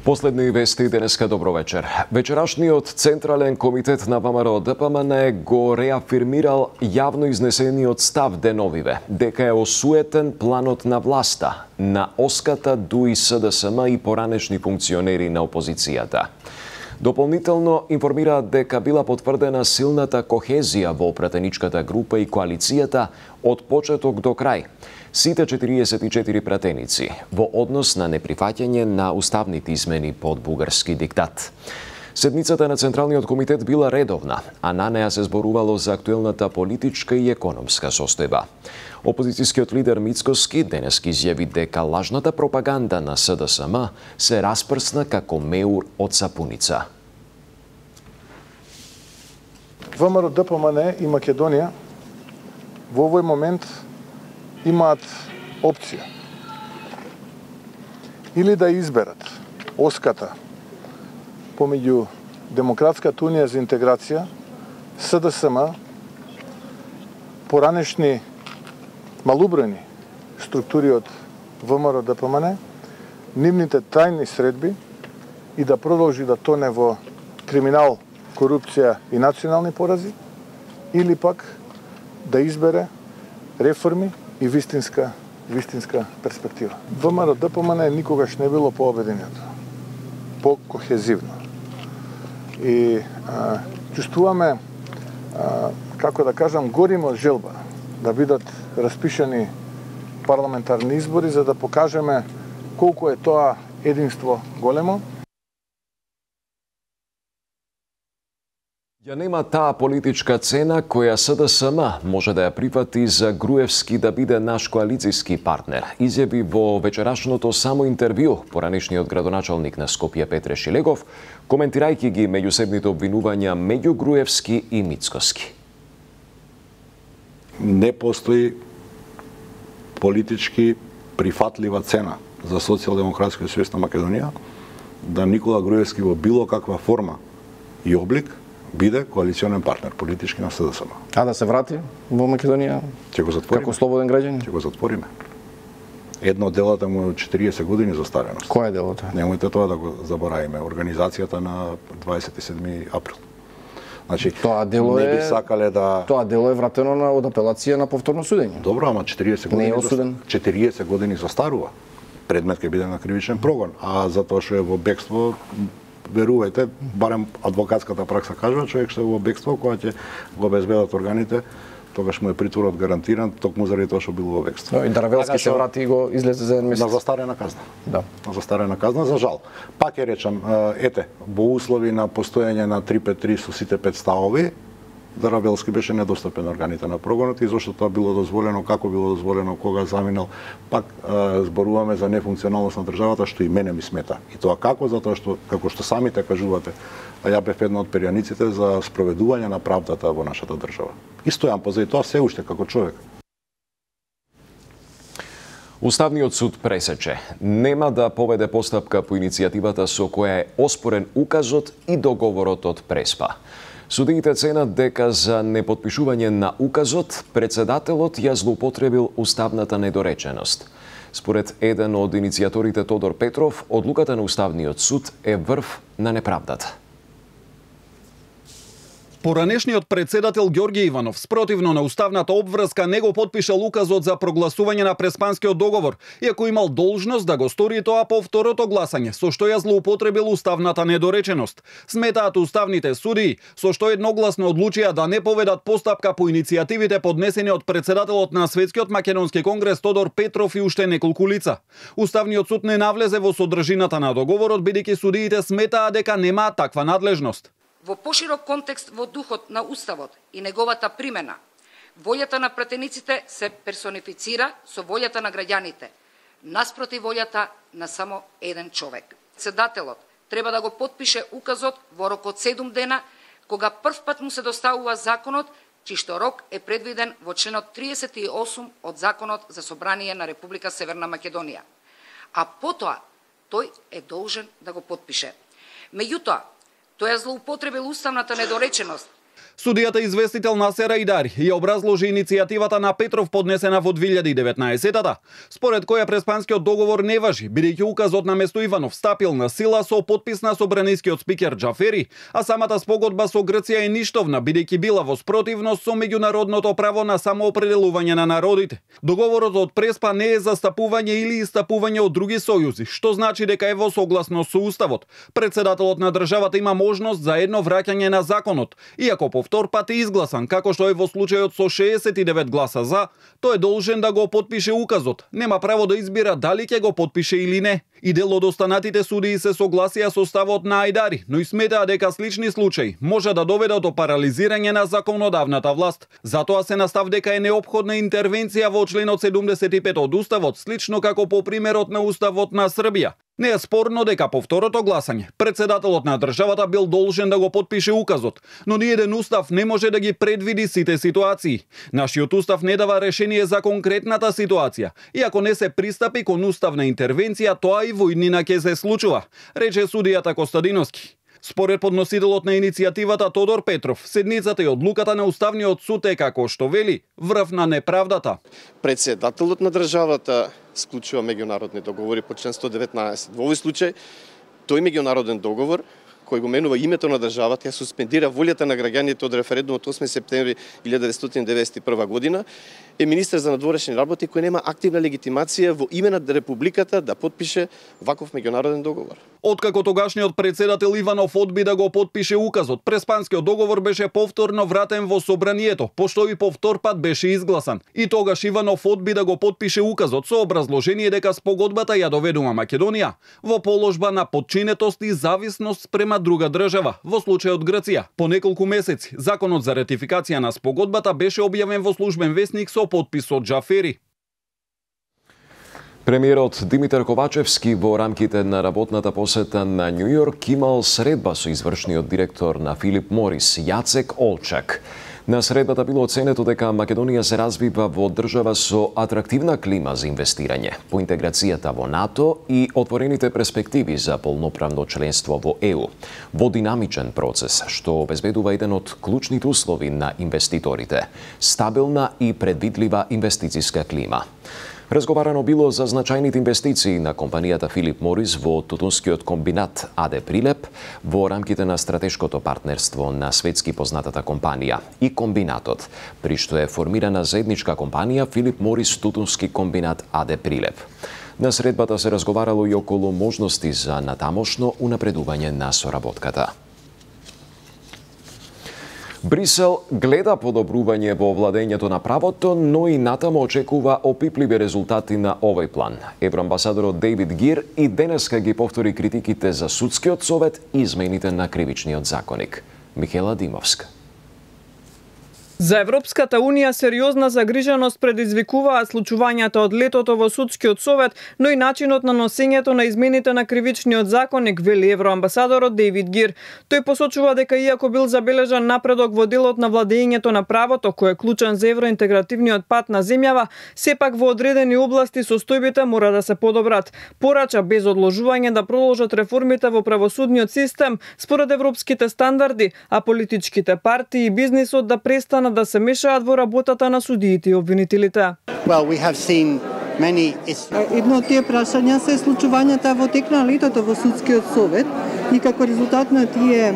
Последни вести денеска, добро вечер. Вечерашниот Централен комитет на ВМРО ДПМН го реафирмирал јавно изнесениот став деновиве дека е осуетен планот на власта на Оската, ДУИ, СДСМ и поранешни функционери на опозицијата. Дополнително информираат дека била потврдена силната кохезија во пратеничката група и коалицијата од почеток до крај. Сите 44 пратеници во однос на неприфаќање на уставните измени под бугарски диктат. Седницата на Централниот комитет била редовна, а на неа се зборувало за актуелната политичка и економска состојба. Опозицијскиот лидер Мицкоски денес изјави дека лажната пропаганда на СДСМ се распрсна како меур од сапуница. ВМРО ДПМН и Македонија во овој момент имаат опција или да изберат оската помеѓу Демократската унија за интеграција, СДСМ, поранешни малубрени структури од ВМРО ДПМН, нивните тајни средби и да продолжи да тоне во криминал, корупција и национални порази, или пак да избере реформи и вистинска перспектива. ВМРО ДПМН никогаш не било пообединето, по-кохезивно. И чувствуваме, како да кажам, горимо од желба да бидат распишани парламентарни избори за да покажеме колку е тоа единство големо. Ја нема таа политичка цена која СДСМ може да ја прифати за Груевски да биде наш коалицијски партнер, изјави во вечерашното само интервју поранешниот градоначалник на Скопје Петре Шилегов, коментирајќи ги меѓусебните обвинувања меѓу Груевски и Мицкоски. Не постои политички прифатлива цена за социјалдемократскиот сојуз на Македонија да Никола Груевски во било каква форма и облик биде коалиционен партнер политички на СДСМ. А да се врати во Македонија? Ќе го затвориме. Како слободен граѓанин? Ќе го затвориме. Едно од делата му е 40 години застареност. Кој е делото? Немојте тоа да го заборавиме. Организацијата на 27 април. Значи, тоа дело не би сакале да... Тоа дело е вратено од апелација на повторно судење. Добро, ама 40 години... Не е осуден. 40 години застарува. Предмет ќе биде на кривичен прогон. А затоа што е во бегство, верувајте, барем адвокатската пракса кажува, човек што е во бегство, кога ќе го обезбедат органите, тогаш му е притворот гарантиран, токму заради тоа што бил во бегство. И Даравелски се врати и го излезе за еден месец. На застарена казна. Да. На застарена казна, за жал. Пак ќе речам, ете, во услови на постоење на 353 со сите 5 ставови, Даравелски беше недостапен органите на прогонот и зашто тоа било дозволено, како било дозволено, кога заминал, пак зборуваме за нефункционалност на државата, што и мене ми смета. И тоа како? Затоа што, како што самите кажувате, ја бев една од перјаниците за спроведување на правдата во нашата држава. И стојам позади тоа се уште како човек. Уставниот суд пресече. Нема да поведе постапка по иницијативата со која е оспорен указот и договорот од Преспа. Судиите ценат дека за непотпишување на указот, председателот ја злоупотребил уставната недореченост. Според еден од иницијаторите Тодор Петров, одлуката на Уставниот суд е врв на неправдата. Поранешниот председател Ѓорѓе Иванов, спротивно на уставната обврска, не го потпишал указот за прогласување на Преспанскиот договор, иако имал должност да го стори тоа по второто гласање, со што ја злоупотребил уставната недореченост. Сметаат уставните судии, со што едногласно одлучија да не поведат постапка по иницијативите поднесени од председателот на Светскиот македонски конгрес Тодор Петров и уште неколку лица. Уставниот суд не навлезе во содржината на договорот, бидејќи судиите сметаа дека немаат таква надлежност. Во поширок контекст во духот на Уставот и неговата примена, волјата на пратениците се персонифицира со волјата на граѓаните, наспроти волјата на само еден човек. Председателот треба да го потпише указот во рок од 7 дена, кога првпат му се доставува законот, чиј што рок е предвиден во членот 38 од Законот за собрание на Република Северна Македонија. А потоа тој е должен да го потпише. Меѓутоа, тој ја злоупотребил уставната недореченост. Судијата известител Насер Ајдари ја образложи иницијативата на Петров поднесена во 2019-та, според која преспанскиот договор не важи, бидејќи указот на место Иванов стапил на сила со подпис на собранискиот спикер Џафери, а самата спогодба со Грција е ништовна, бидејќи била во спротивност со меѓународното право на самоопределување на народите. Договорот од Преспа не е застапување или истапување од други сојузи, што значи дека е во согласност со Уставот. Председателот на државата има можност за едно враќање на законот, иако повтор пат е изгласан, како што е во случајот со 69 гласа за, тој е должен да го потпише указот. Нема право да избира дали ќе го потпише или не. И дел од останатите судии се согласија со ставот на Ајдари, но и сметаа дека слични случаи може да доведат до парализирање на законодавната власт. Затоа се настав дека е неопходна интервенција во членот 75 од Уставот, слично како по примерот на Уставот на Србија. Не е спорно дека по второто гласање председателот на државата бил должен да го потпише указот, но ниеден устав не може да ги предвиди сите ситуации. Нашиот устав не дава решение за конкретната ситуација, и ако не се пристапи кон уставна интервенција, тоа и во иднина ќе се случува, рече судијата Костадиновски. Според подносителот на иницијативата Тодор Петров, седницата и одлуката на Уставниот суд е, како што вели, врв на неправдата. Председателот на државата склучува меѓународни договори по член 119. Во овој случај, тој меѓународен договор, кој го менува името на државата, ја суспендира волјата на граѓаните од референдумот 8 септември 1991 година, е министер за надворешни работи кој нема активна легитимација во име на републиката да потпише ваков меѓународен договор. Откако тогашниот председател Иванов одби да го потпише указот, преспанскиот договор беше повторно вратен во собранието, пошто и повтор пат беше изгласан. И тогаш Иванов одби да го потпише указот со образложение дека спогодбата ја доведува Македонија во положба на подчинетост и зависност спрема друга држава, во случајот Грција. По неколку месеци, законот за ратификација на спогодбата беше објавен во службен весник со подпис од Џафери. Премиерот Димитар Ковачевски во рамките на работната посета на Њу Јорк имал средба со извршниот директор на Филип Морис, Јацек Олчак. На средбата било оценето дека Македонија се развива во држава со атрактивна клима за инвестирање, по интеграцијата во НАТО и отворените перспективи за полноправно членство во ЕУ, во динамичен процес, што обезбедува еден од клучните услови на инвеститорите – стабилна и предвидлива инвестициска клима. Разговарано било за значајните инвестиции на компанијата Филип Морис во тутунскиот комбинат АД Прилеп во рамките на стратешкото партнерство на светски познатата компанија и комбинатот, при што е формирана заедничка компанија Филип Морис Тутунски комбинат АД Прилеп. На средбата се разговарало и околу можности за натамошно унапредување на соработката. Брисел гледа подобрување во владењето на правото, но и натаму очекува опипливи резултати на овој план. Евроамбасадорот Дейвид Гир и денеска ги повтори критиките за судскиот совет и измените на кривичниот законник. Михела Димовска. За Европската Унија сериозна загриженост предизвикуваат случувањата од летото во судскиот совет, но и начинот на носењето на измените на кривичниот законник, вели евроамбасадорот Дейвид Гир. Тој посочува дека иако бил забележан напредок во делот на владењето на правото, кој е клучен за евроинтегративниот пат на земјава, сепак во одредени области состојбите мора да се подобрат. Порача без одложување да продолжат реформите во правосудниот систем според европските стандарди, а политичките партии и бизнисот да престанат да се мешаат во работата на судиите и обвинителите. Едно од тие прашања се случувањата во тек на летото во судскиот совет и како резултат на тие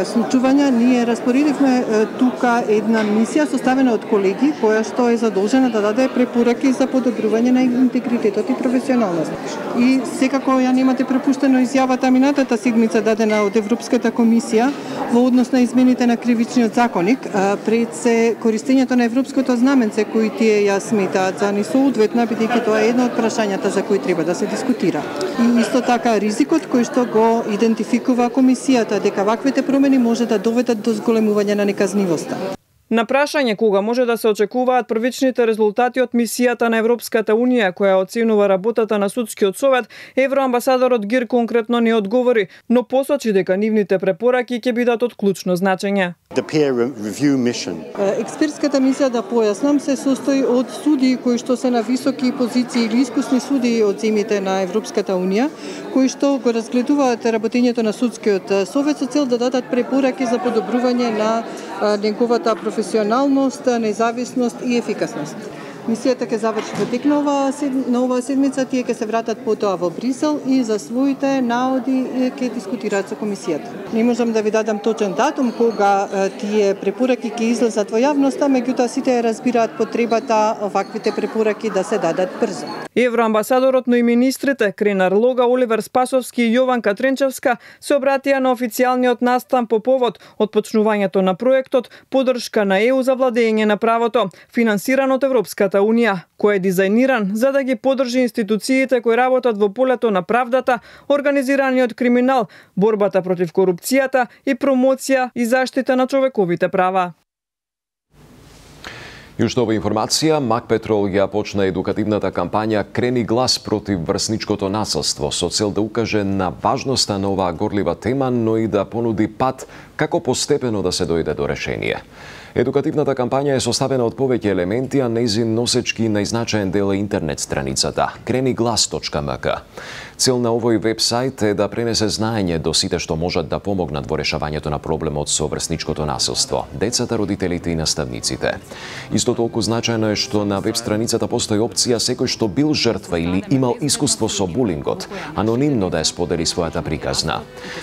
случувања ние распоредивме тука една мисија составена од колеги која што е задолжена да даде препораки за подобрување на интегритетот и професионалност. И секако ја немате препуштено изјавата минатата седмица дадена од Европската комисија во однос на измените на кривичниот законник, пред се користењето на европското знаменце кои тие ја сметаат за несоодветна, бидејќи тоа е едно од прашањата за кои треба да се дискутира. И исто така ризикот кој што го идентификува комисијата дека ваквите промени може да доведат до зголемување на неказнивоста. На прашање кога може да се очекуваат првичните резултати од мисијата на Европската Унија која оценува работата на судскиот совет, евроамбасадорот Гир конкретно не одговори, но посочи дека нивните препораки ќе бидат од клучно значење. Експертската мисија, да појаснам, се состои од судии кои што се на високи позиции или искусни судии од земјите на Европската Унија, кои што го разгледуваат работењето на судскиот совет со цел да дадат препораки за подобрување на неговата професионалност, независност и ефикасност. Мисијата ќе заврши во тек на оваа седмица, тие ќе се вратат потоа во Брисел и за своите наоди ќе дискутираат со комисијата. Не можам да ви дадам точен датум кога тие препораки ќе излезат во јавноста, меѓутоа сите разбираат потребата оваквите препораки да се дадат брзо. Евроамбасадорот, но и министрите Кренар Лога, Оливер Спасовски и Јованка Тренчевска се обратија на официјалниот настан по повод од почнувањето на проектот Поддршка на ЕУ за владење на правото, финансиран од Европската Унија, кој е дизајниран за да ги поддржи институциите кои работат во полето на правдата, организираниот криминал, борбата против корупцијата и промоција и заштита на човековите права. И уште ова информација, Мак Петрол ја почна едукативната кампања Крени глас против врсничкото насилство со цел да укаже на важноста на оваа горлива тема, но и да понуди пат како постепено да се дојде до решение. Едукативната кампања е составена од повеќе елементи, а нејзин носечки најзначаен дел е интернет страницата kreniglas.mk. Цел на овој вебсайт е да пренесе знаење до сите што можат да помогнат во решавањето на проблемот со врсничкото насилство, децата, родителите и наставниците. Исто толку значајно е што на веб страницата постои опција секој што бил жртва или имал искуство со булингот, анонимно да ја сподели својата приказна.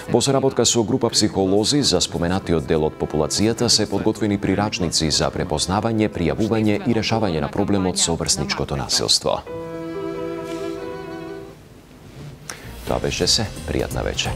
Во соработка со група психолози за споменатиот дел од популацијата се подготвени прирачници за препознавање, пријавување и решавање на проблемот со врсничкото насилство. Тоа беше се. Пријатна вечер.